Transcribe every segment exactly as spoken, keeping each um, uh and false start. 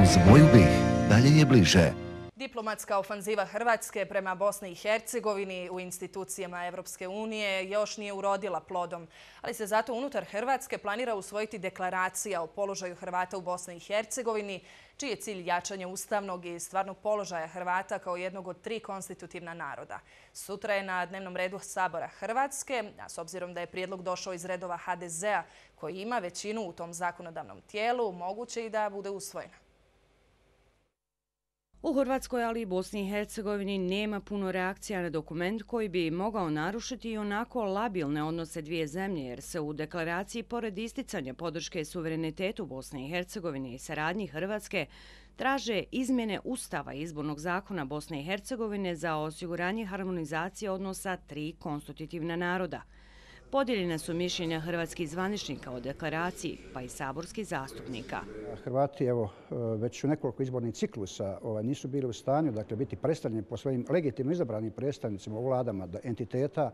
Uz moju BiH dalje je bliže. Diplomatska ofanziva Hrvatske prema Bosni i Hercegovini u institucijama Evropske unije još nije urodila plodom, ali se zato unutar Hrvatske planira usvojiti deklaracija o položaju Hrvata u Bosni i Hercegovini, čiji je cilj jačanje ustavnog i stvarnog položaja Hrvata kao jednog od tri konstitutivna naroda. Sutra je na dnevnom redu Sabora Hrvatske, a s obzirom da je prijedlog došao iz redova ha de zea koji ima većinu u tom zakonodavnom tijelu, moguće i da bude usvojena. U Hrvatskoj, ali i Bosni i Hercegovini nema puno reakcija na dokument koji bi mogao narušiti i onako labilne odnose dvije zemlje, jer se u deklaraciji, pored isticanja podrške suverenitetu Bosne i Hercegovine i saradnji Hrvatske, traže izmjene Ustava i izbornog zakona Bosne i Hercegovine za osiguranje harmonizacije odnosa tri konstitutivna naroda. Podijeljena su mišljenja hrvatskih zvaničnika o deklaraciji, pa i saborskih zastupnika. Hrvati evo, već u nekoliko izbornih ciklusa ovaj, nisu bili u stanju dakle, biti predstavljeni po svojim legitimno izabranim predstavnicima u vladama entiteta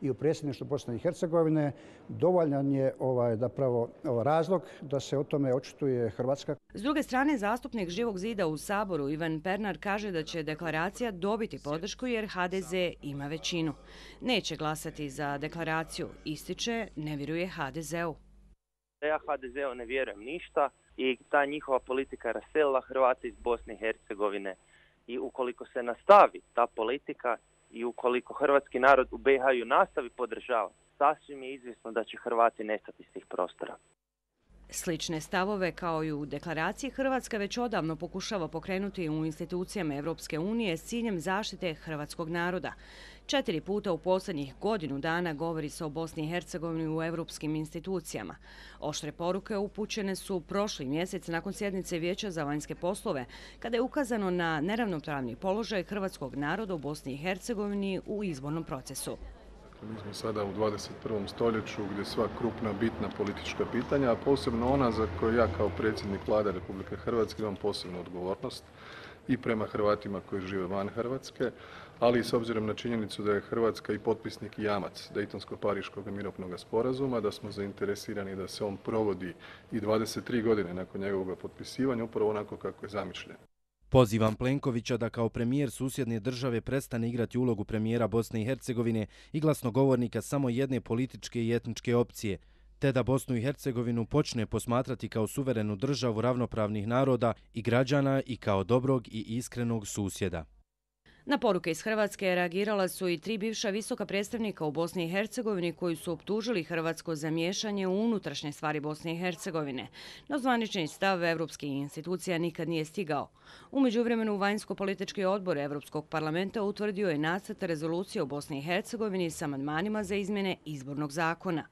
i u predsjedništvu Bosne i Hercegovine. Dovoljan je ovaj, zapravo, ovaj, razlog da se o tome očituje Hrvatska. S druge strane, zastupnik Živog zida u Saboru Ivan Pernar kaže da će deklaracija dobiti podršku jer ha de ze ima većinu. Neće glasati za deklaraciju, ističe, ne vjeruje ha de zeu. Ja ha de zeu ne vjerujem ništa i ta njihova politika je raselila Hrvate iz Bosne i Hercegovine. I ukoliko se nastavi ta politika i ukoliko hrvatski narod u be i ha ju nastavi podržavati, sasvim je izvjesno da će Hrvati nestati iz tih prostora. Slične stavove kao i u deklaraciji Hrvatska već odavno pokušava pokrenuti u institucijama Evropske unije s ciljem zaštite hrvatskog naroda. Četiri puta u posljednjih godinu dana govori se o Bosni i Hercegovini u evropskim institucijama. Oštre poruke upućene su prošli mjesec nakon sjednice Vijeća za vanjske poslove, kada je ukazano na neravnopravni položaj hrvatskog naroda u Bosni i Hercegovini u izbornom procesu. Mi smo sada u dvadeset prvom stoljeću gdje sva krupna, bitna politička pitanja, a posebno ona za koju ja kao predsjednik Vlade Republike Hrvatske imam posebnu odgovornost i prema Hrvatima koji žive van Hrvatske, ali i s obzirom na činjenicu da je Hrvatska i potpisnik i jamac Dejtonsko-Pariškog mirovnog sporazuma, da smo zainteresirani da se on provodi i dvadeset tri godine nakon njegovog potpisivanja, upravo onako kako je zamišljen. Pozivam Plenkovića da kao premijer susjedne države prestane igrati ulogu premijera Bosne i Hercegovine i glasnogovornika samo jedne političke i etničke opcije, te da Bosnu i Hercegovinu počne posmatrati kao suverenu državu ravnopravnih naroda i građana i kao dobrog i iskrenog susjeda. Na poruke iz Hrvatske reagirala su i tri bivša visoka predstavnika u Bosni i Hercegovini koji su optužili Hrvatsko za miješanje u unutrašnje stvari Bosne i Hercegovine. No zvanični stav evropskih institucija nikad nije stigao. U međuvremenu vanjsko-politički odbor Evropskog parlamenta utvrdio je nacrt rezolucije o Bosni i Hercegovini s amandmanima za izmjene izbornog zakona.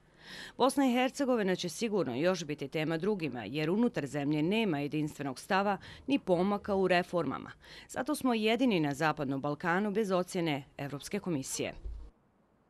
Bosna i Hercegovina će sigurno još biti tema drugima, jer unutar zemlje nema jedinstvenog stava ni pomaka u reformama. Zato smo jedini na Zapadnom Balkanu bez ocjene Evropske komisije.